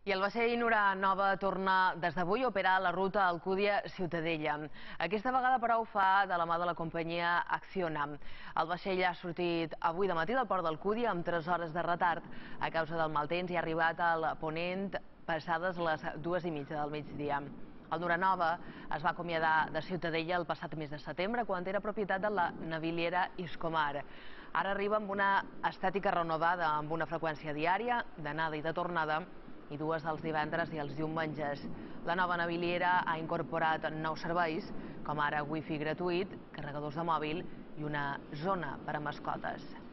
I el vaixell Nura Nova torna des d'avui a operar la ruta Alcúdia-Ciutadella. Aquesta vegada, però, ho fa de la mà de la companyia Acciona. El vaixell ha sortit avui de matí del port d'Alcúdia amb 3 hores de retard a causa del mal temps i ha arribat al ponent passades les 2:30 del migdia. El Nura Nova es va acomiadar de Ciutadella el passat mes de setembre, quan era propietat de la naviliera Iscomar. Ara arriba amb una estètica renovada, amb una freqüència diària d'anada i de tornada, i 2 els divendres i els diumenges. La nova naviliera ha incorporat nous serveis, com ara wifi gratuït, carregadors de mòbil i una zona per a mascotes.